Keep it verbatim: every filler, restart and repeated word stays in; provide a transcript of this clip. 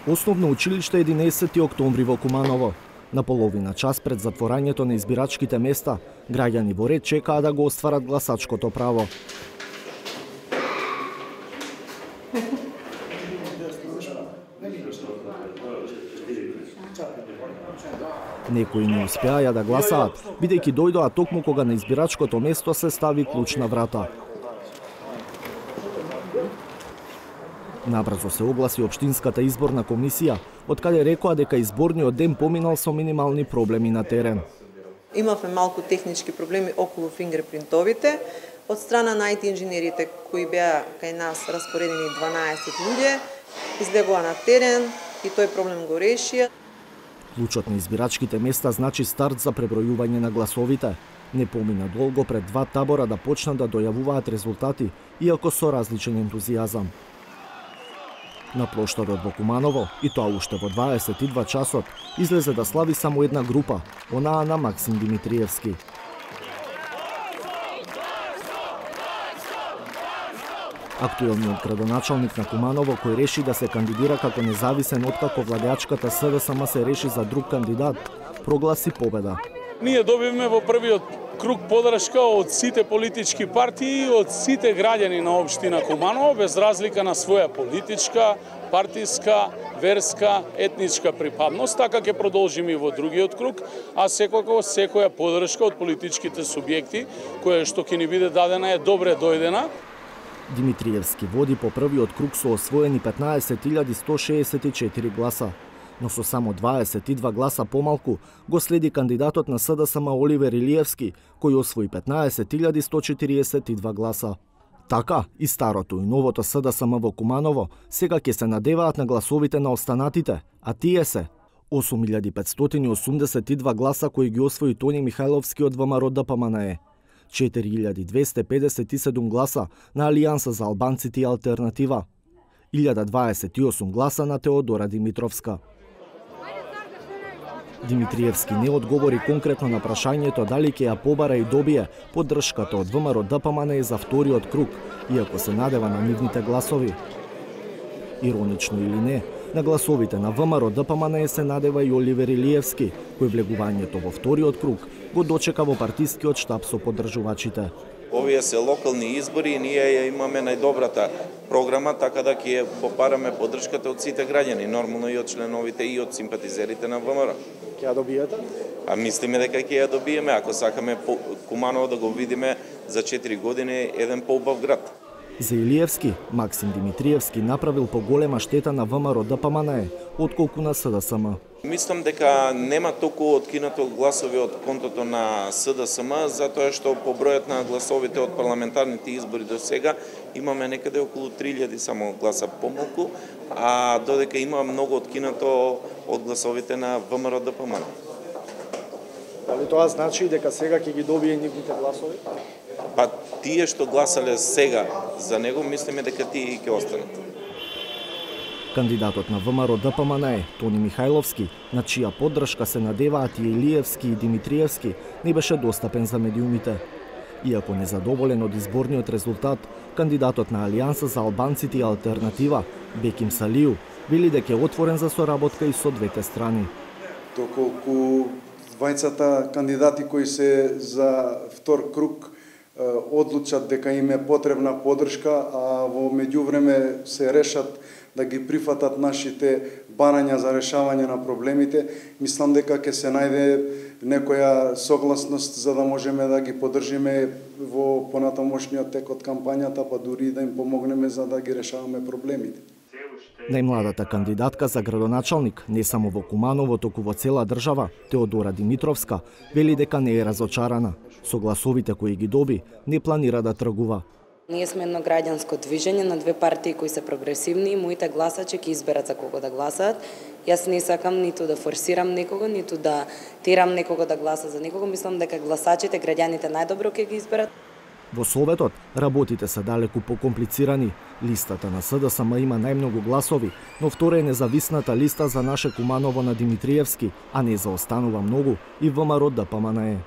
Основно училиште единаесети октомври во Куманово. На половина час пред затворањето на избирачките места, граѓани во ред чекаа да го остварат гласачкото право. Некои не успеаја да гласаат, бидејќи дојдоа токму кога на избирачкото место се стави клуч на врата. Набрзо се огласи Општинската изборна комисија, од каде рекоа дека изборниот ден поминал со минимални проблеми на терен. Имавме малку технички проблеми околу фингерпринтовите. Од страна на ай ти инженерите кои беа кај нас распоредени дванаесет луѓе, излегоа на терен и тој проблем го решија. Клучот на избирачките места значи старт за пребројување на гласовите. Не помина долго пред два табора да почнат да дојавуваат резултати, иако со различен ентузијазам. На плоштадот во Куманово, и тоа уште во дваесет и два часот, излезе да слави само една група, онаа на Максим Димитриевски. Актуелниот градоначалник на Куманово, кој реши да се кандидира како независен откако владеачката С Д С М се реши за друг кандидат, прогласи победа. Ние добивме во првиот круг подршка од сите политички партии, од сите граѓани на општина Куманово, без разлика на своја политичка, партиска, верска, етничка припадност. Така ќе продолжиме и во другиот круг, а секако секоја подршка од политичките субјекти, која што ќе ни биде дадена е добре дојдена. Димитриевски води по првиот круг со освоени петнаесет илјади сто шеесет и четири гласа, но со само дваесет и два гласа помалку го следи кандидатот на С Д С М Оливер Илиевски, кој освои петнаесет илјади сто четириесет и два гласа. Така, и старото и новото С Д С М во Куманово сега ќе се надеваат на гласовите на останатите, а тие се осум илјади петстотини осумдесет и два гласа кои ги освои Тони Михајловски од В М Р Д П М Н Е, четири илјади двесте педесет и седум гласа на Алијанса за албанците и алтернатива, илјада дваесет и осум гласа на Теодора Димитровска. Димитриевски не одговори конкретно на прашањето дали ќе ја побара и добие поддршката од В М Р Д П М Н Е за вториот круг, иако се надева на нивните гласови. Иронично или не, на гласовите на В М Р Д П М Н Е се надева и Оливер Илиевски, кој влегувањето во вториот круг го дочека во партискиот штаб со поддржувачите. Овие се локални избори и ние ја имаме најдобрата програма, така да ќе попараме поддршката од сите граѓани, нормално и од членовите и од симпатизерите на В М Р. Ќе ја добиете? А мислиме дека ќе ја добиеме, ако сакаме Куманово да го видиме за четири години еден поубав град. За Илиевски, Максим Димитриевски направил поголема штета на В М Р Д П М Н Е, отколку на С Д С М. Мислам дека нема толку откинато гласови од контото на С Д С М, затоа што по бројот на гласовите од парламентарните избори до сега имаме некаде околу три илјади само гласа помалку, а додека има многу откинато од гласовите на В М Р Д П М. Дали тоа значи дека сега ќе ги добие нивните гласови? Па тие што гласале сега за него, мислиме дека тие ќе останат. Кандидатот на В М Р Д П М Н Е, Тони Михајловски, на чија поддршка се надеваат и Илиевски и Димитриевски, не беше достапен за медиумите. Иако незадоволен од изборниот резултат, кандидатот на Алијанса за албанците и алтернатива, Беким Салију, вели дека е отворен за соработка и со двете страни. Доколку двајцата кандидати кои се за втор круг одлучат дека им е потребна поддршка, а во меѓувреме се решат да ги прифатат нашите барања за решавање на проблемите, мислам дека ќе се најде некоја согласност за да можеме да ги поддржиме во понатамошниот тек од кампањата, па дури да им помогнеме за да ги решаваме проблемите. Најмладата кандидатка за градоначалник, не само во Куманово, туку во цела држава, Теодора Димитровска, вели дека не е разочарана. Со гласовите кои ги доби, не планира да тргува. Ние сме едно граѓанско движење на две партии кои се прогресивни и моите гласачи ќе изберат за кого да гласаат. Јас не сакам ниту да форсирам некого, ниту да терам некого да гласа за некого. Мислам дека гласачите, граѓаните најдобро ќе ги изберат. Во Советот работите се далеку покомплицирани. Листата на С Д С М има најмногу гласови, но втора е независната листа за наше Куманово на Димитриевски, а не заостанува многу и В М Р Д П М Н Е.